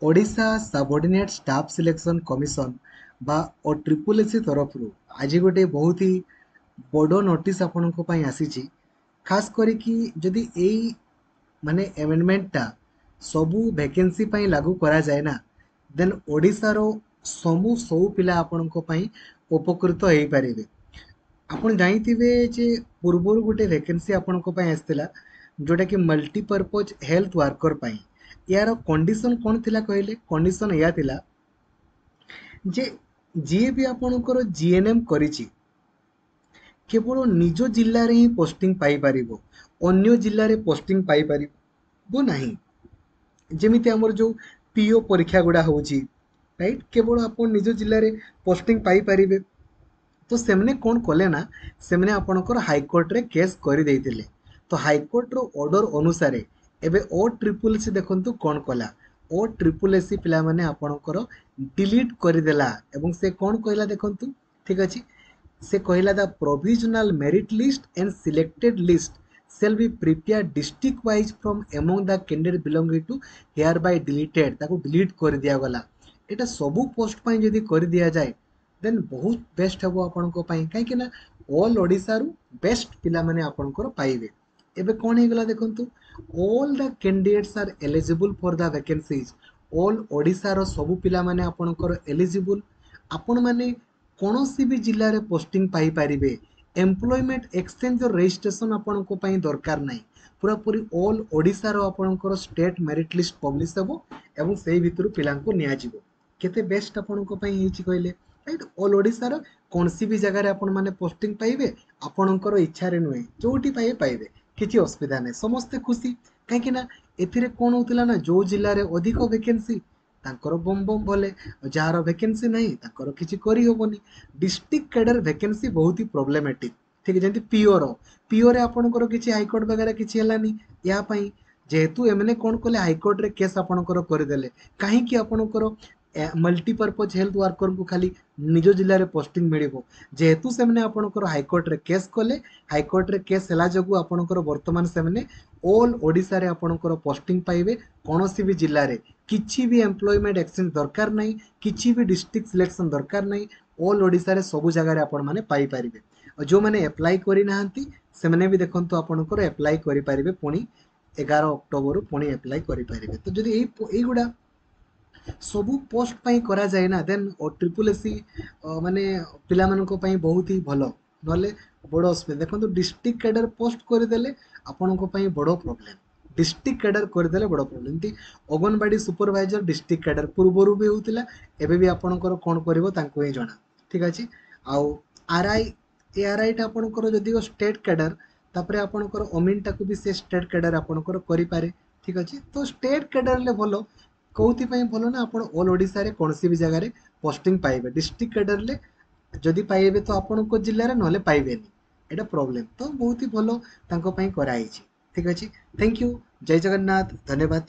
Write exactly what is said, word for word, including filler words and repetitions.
Odisha ସବଅର୍ଡ଼ିନେଟ୍ staff selection commission ବା ଓ triple S C ତରଫରୁ ଆଜି ଗୋଟେ ବହୁତ ହି ବଡ଼ ନୋଟିସ୍ ଆପଣଙ୍କ ପାଇଁ ଆସିଛି। ଖାସ୍ କରିକି ଯଦି ଏଇ ମାନେ ଆମେଣ୍ଡମେଣ୍ଟଟା ସବୁ ଭେକେନ୍ସି ପାଇଁ ଲାଗୁ କରାଯାଏ ନା, ଦେନ୍ ଓଡ଼ିଶାର ସବୁ ସବୁ ପିଲା ଆପଣଙ୍କ ପାଇଁ ଉପକୃତ ହେଇପାରିବେ। ଆପଣ ଜାଣିଥିବେ ଯେ ପୂର୍ବରୁ ଗୋଟେ ଭେକେନ୍ସି ଆପଣଙ୍କ ପାଇଁ ଆସିଥିଲା, ଯେଉଁଟାକି ମଲ୍ଟିପର୍ପଜ୍ ହେଲ୍ଥ ୱାର୍କର ପାଇଁ। ଏହାର କଣ୍ଡିସନ୍ କ'ଣ ଥିଲା କହିଲେ? କଣ୍ଡିସନ୍ ଏଇଆ ଥିଲା ଯେ ଯିଏ ବି ଆପଣଙ୍କର ଜି ଏନ୍ ଏମ୍ କରିଛି, କେବଳ ନିଜ ଜିଲ୍ଲାରେ ହିଁ ପୋଷ୍ଟିଂ ପାଇପାରିବ, ଅନ୍ୟ ଜିଲ୍ଲାରେ ପୋଷ୍ଟିଂ ପାଇପାରିବ ନାହିଁ। ଯେମିତି ଆମର ଯେଉଁ ପି ଓ ପରୀକ୍ଷା ଗୁଡ଼ା ହେଉଛି, ରାଇଟ୍? କେବଳ ଆପଣ ନିଜ ଜିଲ୍ଲାରେ ପୋଷ୍ଟିଂ ପାଇପାରିବେ। ତ ସେମାନେ କ'ଣ କଲେ ନା, ସେମାନେ ଆପଣଙ୍କର ହାଇକୋର୍ଟରେ କେସ୍ କରିଦେଇଥିଲେ। ତ ହାଇକୋର୍ଟର ଅର୍ଡ଼ର ଅନୁସାରେ ଏବେ ଓ ଟ୍ରିପୁଲ୍ ସି ଦେଖନ୍ତୁ କ'ଣ କଲା। ଓ ଟ୍ରିପୁଲ୍ ଏସ୍ ସି ପିଲାମାନେ ଆପଣଙ୍କର ଡିଲିଟ୍ କରିଦେଲା ଏବଂ ସେ କ'ଣ କହିଲା ଦେଖନ୍ତୁ, ଠିକ୍ ଅଛି? ସେ କହିଲା, "The provisional merit list and selected list shall be prepared district wise from among the candidate belonging to hereby deleted." ତାକୁ ଡିଲିଟ୍ କରିଦିଆଗଲା। ଏଇଟା ସବୁ ପୋଷ୍ଟ ପାଇଁ ଯଦି କରିଦିଆଯାଏ, ଦେନ୍ ବହୁତ ବେଷ୍ଟ ହେବ ଆପଣଙ୍କ ପାଇଁ, କାହିଁକି ନା ଅଲ୍ ଓଡ଼ିଶାରୁ ବେଷ୍ଟ ପିଲାମାନେ ଆପଣଙ୍କର ପାଇବେ। ଏବେ କ'ଣ ହେଇଗଲା ଦେଖନ୍ତୁ, all the candidates are eligible for the vacancies. All ଓଡ଼ିଶାର ସବୁ ପିଲାମାନେ ଆପଣଙ୍କର ଏଲିଜିବୁଲ୍। ଆପଣମାନେ କୌଣସି ବି ଜିଲ୍ଲାରେ ପୋଷ୍ଟିଂ ପାଇପାରିବେ। ଏମ୍ପ୍ଲୟମେଣ୍ଟ ଏକ୍ସଚେଞ୍ଜର ରେଜିଷ୍ଟ୍ରେସନ୍ ଆପଣଙ୍କ ପାଇଁ ଦରକାର ନାହିଁ। ପୁରାପୁରି ଅଲ୍ ଓଡ଼ିଶାର ଆପଣଙ୍କର ଷ୍ଟେଟ୍ ମେରିଟ୍ ଲିଷ୍ଟ ପବ୍ଲିଶ ହେବ ଏବଂ ସେଇ ଭିତରୁ ପିଲାଙ୍କୁ ନିଆଯିବ। କେତେ ବେଷ୍ଟ ଆପଣଙ୍କ ପାଇଁ ହେଇଛି କହିଲେ, ରାଇଟ୍? ଅଲ୍ ଓଡ଼ିଶାର କୌଣସି ବି ଜାଗାରେ ଆପଣମାନେ ପୋଷ୍ଟିଂ ପାଇବେ, ଆପଣଙ୍କର ଇଚ୍ଛାରେ ନୁହେଁ, ଯେଉଁଠି ପାଇବେ ପାଇବେ, କିଛି ଅସୁବିଧା ନାହିଁ। ସମସ୍ତେ ଖୁସି, କାହିଁକି ନା ଏଥିରେ କ'ଣ ହେଉଥିଲା ନା, ଯେଉଁ ଜିଲ୍ଲାରେ ଅଧିକ ଭେକେନ୍ସି ତାଙ୍କର ବମ୍ ବମ୍ ଭଲେ, ଯାହାର ଭେକେନ୍ସି ନାହିଁ ତାଙ୍କର କିଛି କରିହେବନି। ଡିଷ୍ଟ୍ରିକ୍ଟ କ୍ୟାଡର ଭେକେନ୍ସି ବହୁତ ହି ପ୍ରୋବ୍ଲେମେଟିକ୍, ଠିକ୍? ଯେମିତି ପିଓର ପିଓରେ ଆପଣଙ୍କର କିଛି ହାଇକୋର୍ଟ ବଗେରା କିଛି ହେଲାନି ୟା ପାଇଁ। ଯେହେତୁ ଏମାନେ କ'ଣ କଲେ, ହାଇକୋର୍ଟରେ କେସ୍ ଆପଣଙ୍କର କରିଦେଲେ, କାହିଁକି ଆପଣଙ୍କର ମଲ୍ଟିପର୍ପଜ୍ ହେଲ୍ଥ ୱାର୍କରଙ୍କୁ ଖାଲି ନିଜ ଜିଲ୍ଲାରେ ପୋଷ୍ଟିଂ ମିଳିବ? ଯେହେତୁ ସେମାନେ ଆପଣଙ୍କର ହାଇକୋର୍ଟରେ କେସ୍ କଲେ, ହାଇକୋର୍ଟରେ କେସ୍ ହେଲା ଯୋଗୁଁ ଆପଣଙ୍କର ବର୍ତ୍ତମାନ ସେମାନେ ଅଲ୍ ଓଡ଼ିଶାରେ ଆପଣଙ୍କର ପୋଷ୍ଟିଂ ପାଇବେ କୌଣସି ବି ଜିଲ୍ଲାରେ। କିଛି ବି ଏମ୍ପ୍ଲୟମେଣ୍ଟ ଏକ୍ସଚେଞ୍ଜ ଦରକାର ନାହିଁ, କିଛି ବି ଡିଷ୍ଟ୍ରିକ୍ଟ ସିଲେକ୍ସନ୍ ଦରକାର ନାହିଁ। ଅଲ୍ ଓଡ଼ିଶାରେ ସବୁ ଜାଗାରେ ଆପଣମାନେ ପାଇପାରିବେ। ଆଉ ଯେଉଁମାନେ ଆପ୍ଲାଏ କରିନାହାନ୍ତି, ସେମାନେ ବି ଦେଖନ୍ତୁ ଆପଣଙ୍କର ଆପ୍ଲାଏ କରିପାରିବେ। ପୁଣି ଏଗାର ଅକ୍ଟୋବରରୁ ପୁଣି ଆପ୍ଲାଏ କରିପାରିବେ। ତ ଯଦି ଏଇ ଏଇଗୁଡ଼ା ସବୁ ପୋଷ୍ଟ ପାଇଁ କରାଯାଏ ନା, ଦେନ୍ ଓ ଟ୍ରିପୁଲ୍ ଏସ୍ ସି ମାନେ ପିଲାମାନଙ୍କ ପାଇଁ ବହୁତ ହି ଭଲ, ନହେଲେ ବଡ଼ ଅସୁବିଧା। ଦେଖନ୍ତୁ, ଡିଷ୍ଟ୍ରିକ୍ଟ କ୍ୟାଡର ପୋଷ୍ଟ କରିଦେଲେ ଆପଣଙ୍କ ପାଇଁ ବଡ଼ ପ୍ରୋବ୍ଲେମ୍। ଡିଷ୍ଟ୍ରିକ୍ଟ କ୍ୟାଡର କରିଦେଲେ ବଡ଼ ପ୍ରୋବ୍ଲେମ୍। ଏମିତି ଅଙ୍ଗନବାଡ଼ି ସୁପରଭାଇଜର ଡିଷ୍ଟ୍ରିକ୍ଟ କ୍ୟାଡର ପୂର୍ବରୁ ବି ହେଉଥିଲା, ଏବେ ବି ଆପଣଙ୍କର କ'ଣ କରିବ ତାଙ୍କୁ ହିଁ ଜଣା, ଠିକ୍ ଅଛି? ଆଉ ଆର୍ I, A R ଆଇଟା ଆପଣଙ୍କର ଯଦିଓ ଷ୍ଟେଟ୍ କ୍ୟାଡର, ତାପରେ ଆପଣଙ୍କର ଅମିନଟାକୁ ବି ସେ ଷ୍ଟେଟ୍ କ୍ୟାଡର ଆପଣଙ୍କର କରିପାରେ, ଠିକ୍ ଅଛି? ତ ଷ୍ଟେଟ୍ କ୍ୟାଡରରେ ଭଲ। କେଉଁଥିପାଇଁ ଭଲ ନା, ଆପଣ ଅଲ୍ ଓଡ଼ିଶାରେ କୌଣସି ବି ଜାଗାରେ ପୋଷ୍ଟିଂ ପାଇବେ। ଡିଷ୍ଟ୍ରିକ୍ଟ କ୍ୟାଡରରେ ଯଦି ପାଇବେ ତ ଆପଣଙ୍କ ଜିଲ୍ଲାରେ, ନହେଲେ ପାଇବେନି, ଏଇଟା ପ୍ରୋବ୍ଲେମ୍। ତ ବହୁତ ହି ଭଲ ତାଙ୍କ ପାଇଁ କରାହେଇଛି, ଠିକ୍ ଅଛି? Thank you, Jay Jagannath, ଧନ୍ୟବାଦ।